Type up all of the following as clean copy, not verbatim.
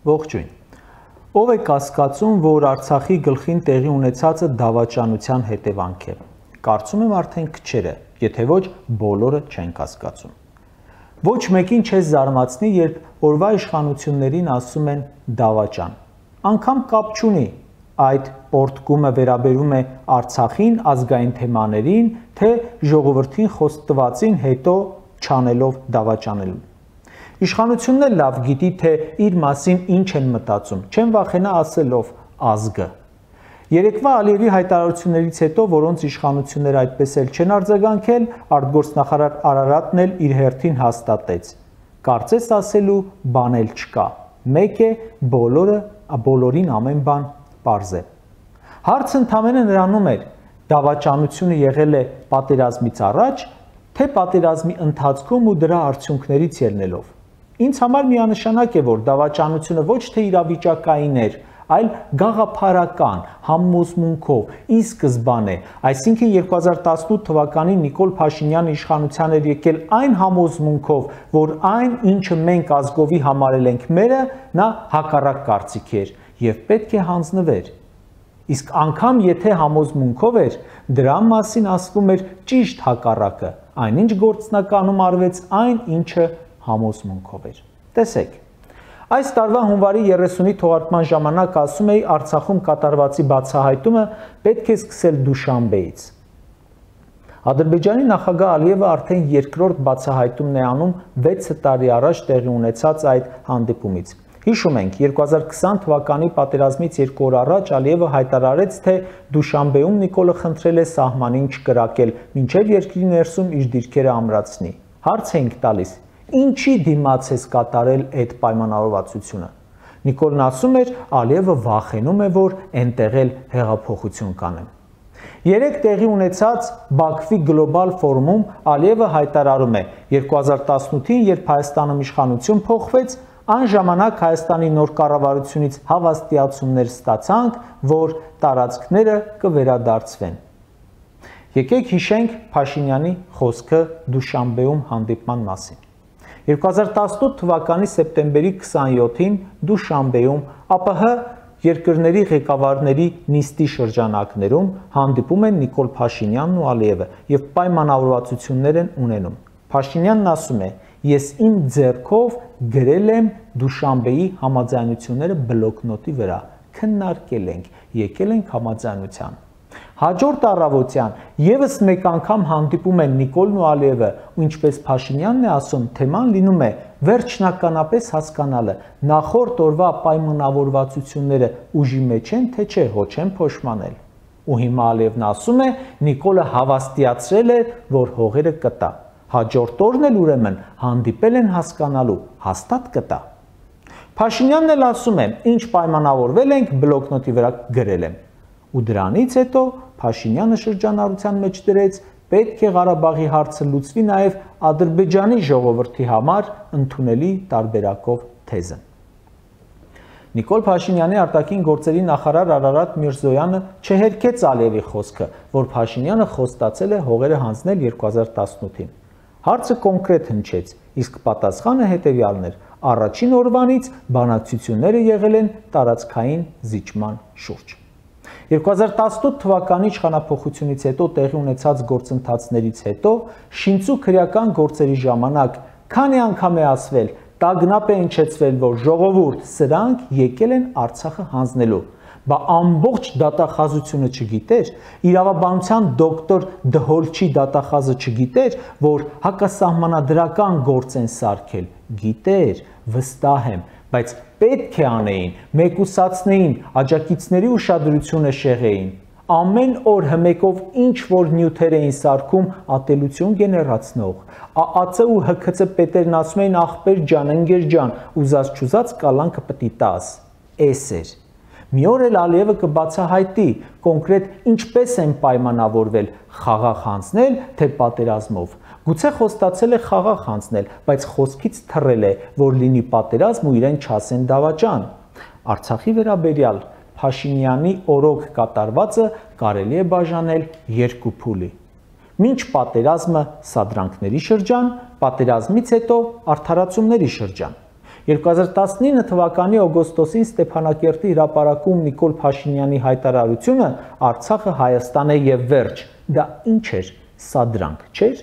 Ողջույն։ Ով է կասկածում, որ Արցախի գլխին տեղի ունեցածը դավաճանության հետևանք է։ Կարծում եմ արդեն քչերը, եթե ոչ բոլորը չեն կասկածում։ Ոչ մեկին չես զարմացնի, երբ օրվա իշխանություններին ասում են դավաճան։ Անգամ կապ չունի այդ պորտկումը վերաբերում է Արցախին, ազգային թեմաներին, թե ժողովրդին խոստվածին հետո չանելով դավաճանելու։ Իշխանությունն էլ լավ գիտի, թե իր մասին ինչ են մտածում, չեն վախենա ասելով ազգը։ Երեկվա Ալիևի հայտարարություններից հետո, որոնց իշխանությունները այդպես էլ չեն արձագանքել, արտգործնախարար Արարատն էլ իր հերթին հաստատեց. կարծես ասելու բան էլ չկա, մեկ է բոլորին ամեն բան պարզ է։ Հարցը ընդամենը նրանում էր, դավաճանությունը եղել է պատերազմից առաջ, թե պատերազմի ընթացքում ու դրա արդյունքներից ելնելով։ Ինձ համար միանշանակ է, որ դավաճանությունը ոչ թե իրավիճակային էր, այլ գաղափարական, համոզմունքով, ի սկզբանե, այսինքն 2018 թվականին Նիկոլ Փաշինյանը իշխանության էր եկել այն համոզմունքով, որ այն, ինչը մենք ազգովի համարել ենք մերը, նա հակառակ կարծիք էր եւ պետք է հանձնվեր։ Իսկ անգամ եթե համոզմունքով էր, դրա մասին ասվում էր ճիշտ հակառակը, այնինչ գործնականում արվեց այն, ինչը համոզմունքով էր։ Տեսեք, այս տարվա հունվարի 30-ի թողարկման ժամանակ ասում էի Արցախում կատարվածի բացահայտումը պետք է սկսել Դուշանբեից։ Ադրբեջանի նախագահ Ալիևը արդեն երկրորդ բացահայտումն է անում 6 տարի առաջ տեղի ունեցած այդ հանդիպումից։ Հիշում ենք, 2020 թվականի պատերազմից 2 օր առաջ Ալիևը հայտարարեց, թե Դուշանբեում Նիկոլը խնդրել է սահմանին չկրակել, մինչև երկրի ներսում իր դիրքերը ամրացնի։ Հարց ենք տալիս. ինչի դիմաց ես կատարել այդ պայմանավորվածությունը։ Նիկոլն ասում էր, Ալիևը վախենում է, որ այնտեղ էլ հեղափոխություն կանեն։ Երեք տեղի ունեցած Բաքվի գլոբալ ֆորումում Ալիևը հայտարարում է. 2018-ին, երբ Հայաստանում իշխանություն փոխվեց, այն ժամանակ Հայաստանի նոր կառավարությունից հավաստիացումներ ստացանք, որ տարածքները կվերադարձվեն։ Եկեք հիշենք Փաշինյանի խոսքը Դուշանբեում հանդիպման մասին։ 2018 թվականի սեպտեմբերի 27-ին Դուշանբեում ԱՊՀ երկրների ղեկավարների նիստի շրջանակներում հանդիպում են Նիկոլ Փաշինյանն ու Ալիևը եւ պայմանավորվածություններ են ունենում։ Փաշինյանն ասում է. ես իմ ձեռքով գրել եմ Դուշանբեի համաձայնությունները բլոկնոտի վրա, քննարկել ենք, եկել ենք համաձայնության։ Հաջորդ առավոտյան եւս մեկ անգամ հանդիպում են Նիկոլն ու Ալիևը, ու ինչպես Փաշինյանն է ասում, թեման լինում է վերջնականապես հասկանալը, նախորդ օրվա պայմանավորվածությունները ուժի մեջ են, թե չէ, հո չեն փոշմանել։ Ու հիմա Ալիևն ասում է, Նիկոլը հավաստիացրել է, որ հողերը կտա։ Հաջորդ օրն էլ ուրեմն հանդիպել են հասկանալու, հաստատ կտա։ Փաշինյանն էլ ասում է, ինչ պայմանավորվել ենք, բլոկնոտի վրա գրել եմ։ Ու դրանից հետո Փաշինյանը շրջանառության մեջ դրեց, պետք է Ղարաբաղի հարցը լուծվի նաև Ադրբեջանի ժողովրդի համար ընդունելի տարբերակով թեզը։ Նիկոլ Փաշինյանի արտաքին գործերի նախարար Արարատ Միրզոյանը չհերքեց Ալիևի խոսքը, որ Փաշինյանը խոստացել է հողերը հանձնել 2018-ին։ Հարցը կոնկրետ հնչեց, իսկ պատասխանը հետևյալն էր. առաջին օրվանից բանակցությունները եղել են տարածքային զիջման շուրջ։ 2018 թվականի իշխանափոխությունից հետո տեղի ունեցած գործընթացներից հետո շինծու քրեական գործերի ժամանակ քանի անգամ է ասվել, տագնապ է հնչեցվել, որ ժողովուրդ սրանք եկել են Արցախը հանձնելու, բա ամբողջ դատախազությունը չգիտեր, իրավաբանության դոկտոր Դհոլչի դատախազը չգիտեր, որ հակասահմանադրական գործ են սարքել, գիտեր, վստահ եմ, բայց պետք է անեին, մեկուսացնեին, աջակիցների ուշադրությունը շեղեին, ամեն օր հմեկով ինչ որ նյութեր էին սարքում ատելություն գեներացնող, ԱԱՑ ու ՀՔՑ պետերն ասում էին ախպեր ջան, ընկեր ջան, ուզած չուզած կալանքը պտի տաս, էս էր։ Մի օր էլ Ալիևը կբացահայտի կոնկրետ ինչպես են պայմանավորվել խաղաղ հանձնել, թե պատերազմով։ Գուցե խոստացել է խաղաղ հանձնել, բայց խոսքից թռել է, որ լինի պատերազմ ու իրեն չասեն դավաճան։ Արցախի վերաբերյալ Փաշինյանի օրոք կատարվածը կարելի է բաժանել երկու փուլի։ Մինչ պատերազմը սադրանքների շրջան, պատերազմից հետո արդարացումների շրջան։ 2019 թվականի օգոստոսին Ստեփանակերտի հրապարակում Նիկոլ Փաշինյանի հայտարարությունը Արցախը Հայաստան է եւ վերջ։ Դա ինչ էր, սա դրանք չէր։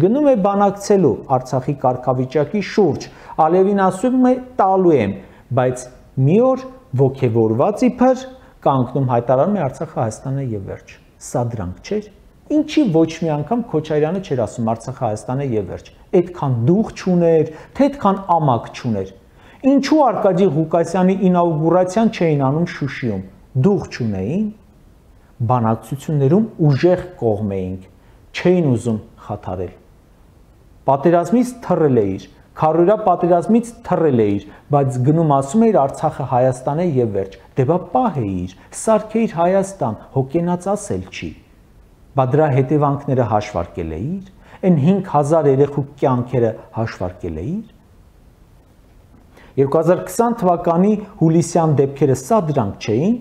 Գնում է բանակցելու Արցախի կարգավիճակի շուրջ, Ալիևին ասում է տալու եմ, բայց մի օր ոգևորված իբր կանգնում հայտարարում է Արցախը Հայաստան է եւ վերջ։ Սա դրանք չէր։ Ինչի ոչ մի անգամ Քոչարյանը չէր ասում Արցախը Հայաստան է եւ վերջ։ Այդքան դուխ չուներ, թե այդքան ամակ չուներ։ Ինչու Արկադի Ղուկասյանի ինաուգուրացիան չէին անում Շուշիում։ Դուխ չունեին, բանակցություններում ուժեղ կողմ էինք, չէին ուզում խաթարել։ Պատերազմից թռել էիր, քարորա պատերազմից թռել էիր, բայց գնում ասում էիր Արցախը Հայաստան է եւ վերջ։ Դե բա պահ էիր, սարքեիր Հայաստան, հոգենած ասել չի։ Բա դրա հետևանքները հաշվարկել էիր, այն 5000 երեխու կյանքերը հաշվարկել էիր։ 2020 թվականի հուլիսյան դեպքերը սա դրանք չէին,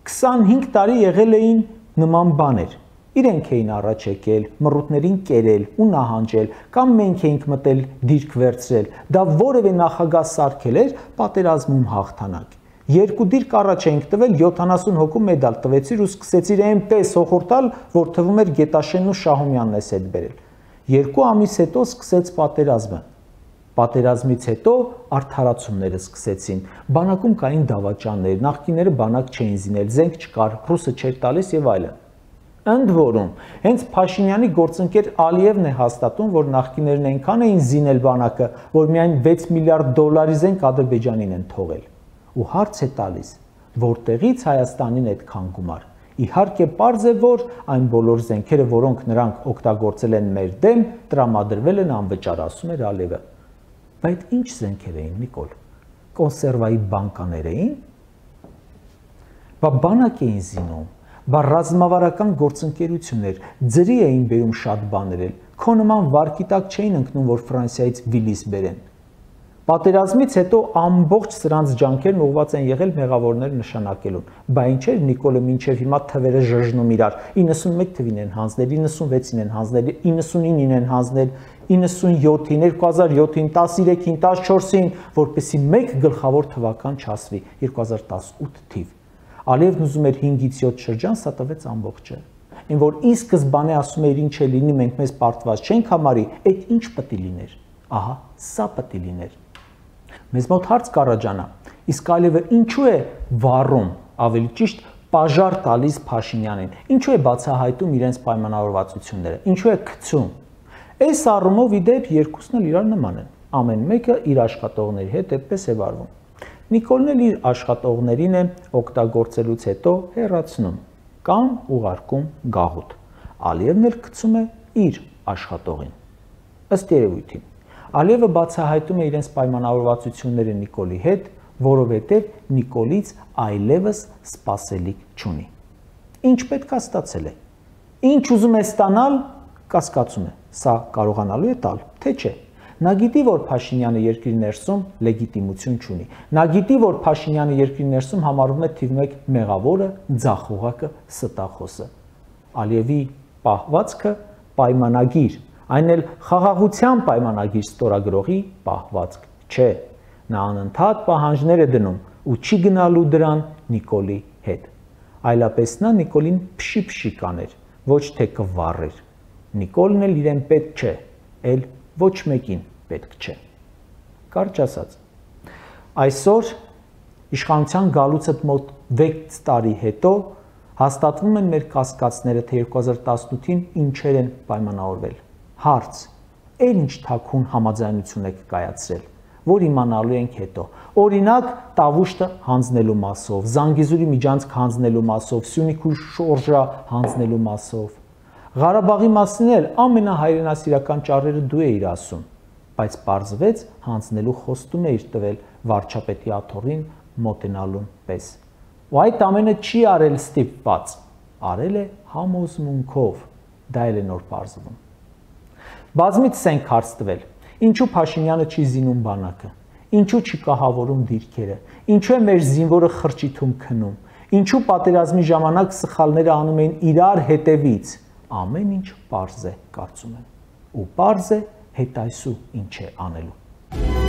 25 տարի եղել էին նման բաներ։ Իրենք էին առաջ եկել, մռութներին կերել ու նահանջել, կամ մենք էինք մտել դիրք վերցրել։ Դա որևէ նախագահ սարքել էր պատերազմում հաղթանակ։ Երկու դիրք առաջ էինք տվել, 70 հոգու մեդալ տվեցիր ու սկսեցիր այնպես հոխորտալ, որ թվում էր Գետաշենն ու Շահումյանն էս հետ բերել։ 2 ամիս հետո սկսեց պատերազմը։ Պատերազմից հետո արդարացումները սկսեցին։ Բանակում կային դավաճաններ, նախկիները բանակ չէին զինել, զենք չկար, ռուսը չէր տալիս եւ այլն։ Ընդ որում, հենց Փաշինյանի գործընկեր Ալիևն է հաստատում, որ նախկիներն այնքան էին զինել բանակը, որ միայն 6 միլիարդ դոլարի զենք Ադրբեջանին են թողել։ Ու հարց է տալիս, որտեղից Հայաստանին այդքան գումար։ Իհարկե պարզ է, որ այն բոլոր զենքերը, որոնք նրանք օգտագործել են մեր դեմ, տրամադրվել են անվճար, ասում էր Ալիևը։ Բայց ինչ զենքեր էին, Նիկոլ։ Կոնսերվայի բանկաներ էին։ Բա բանակ էին զինում, բա ռազմավարական գործընկերություններ, ձրի էին բերում շատ բաներ էլ, քո նման վարկի տակ չէին ընկնում, որ Ֆրանսիայից Վիլիս բերեն։ Պատերազմից հետո ամբողջ սրանց ջանքերն ուղղված են եղել մեղավորներ նշանակելուն։ Բա ինչ էր Նիկոլը մինչև հիմա թվերը ժժնում իրար։ 91 թվին են հանձնել, 96-ին են հանձնել, 99-ին են հանձնել, 97-ին, 2007-ին, 13-ին, 14-ին, որպեսզի մեկ գլխավոր թվական չասվի, 2018 թիվ։ Ալիևն ուզում էր 5-ից 7 շրջան, սա տվեց ամբողջը։ Այն որ ի սկզբանե ասում էր ինչ է լինի, մենք մեզ պարտված չենք համարի, այդ ինչ պետք է լիներ։ Ահա, սա պետք է լիներ։ Մեզ մոտ հարց կառաջանա, իսկ Ալիևը ինչու է վառում, ավելի ճիշտ պաժար տալիս Փաշինյանին, ինչու է բացահայտում իրենց պայմանավորվածությունները, ինչու է գցում։ Այս առումով իդեպ երկուսն էլ իրար նման են, ամեն մեկը իր աշխատողների հետ այդպես է վարվում։ Նիկոլն էլ իր աշխատողներին է օգտագործելուց հետո հեռացնում կամ ուղարկում գաղութ։ Ալիևն էլ գցում է իր աշխատողին։ Ըստ երևույթին Ալիևը բացահայտում է իրենց պայմանավորվածությունները Նիկոլի հետ, որովհետև Նիկոլից այլևս սպասելիք չունի։ Ինչ պետք է ստացել է։ Ինչ ուզում է ստանալ, կասկածում է։ Սա կարողանալու է տալ, թե չէ։ Նա գիտի, որ Փաշինյանը երկրի ներսում լեգիտիմություն չունի։ Նա գիտի, որ Փաշինյանը երկրի ներսում համարվում է թիվ 1 մեղավորը, ձախողակը, ստախոսը։ Ալիևի պահվածքը պայմանագիր, այն էլ խաղաղության պայմանագիր ստորագրողի պահվածք չէ։ Նա անընդհատ պահանջներ է դնում ու չի գնալու դրան Նիկոլի հետ։ Այլապես նա Նիկոլին փշի կաներ, ոչ թե կվառեր։ Նիկոլն էլ իրեն պետք չէ, էլ ոչ մեկին պետք չէ։ Կարճ ասած, այսօր իշխանության գալուց մոտ 6 տարի հետո հաստատվում են մեր կասկածները, թե 2018-ին ինչեր են պայմանավորվել։ Հարց, էլ ինչ թաքուն համաձայնություն եք կայացրել, որ իմանալու ենք հետո։ Օրինակ, Տավուշտը հանձնելու մասով, Զանգեզուրի միջանցք հանձնելու մասով, Սյունիք ու Շորժա հանձնելու մասով։ Ղարաբաղի մասին էլ ամենահայրենասիրական ճառերը դու էիր ասում, բայց պարզվեց հանձնելու խոստում էիր տվել վարչապետի աթոռին մոտենալուն պես։ Ու այդ ամենը չի արել ստիպված, արել է համոզմունքով, դա էլ է նոր պարզվում։ Բազմից ենք հարց տվել, ինչու Փաշինյանը չի զինում բանակը, ինչու չի կահավորում դիրքերը, ինչու է մեր զինվորը խրճիթում քնում, ինչու պատերազմի ժամանակ սխալները անում էին իրար հետևից։ Ամեն ինչ պարզ է, կարծում եմ, ու պարզ է հետայսու ինչ է անելու։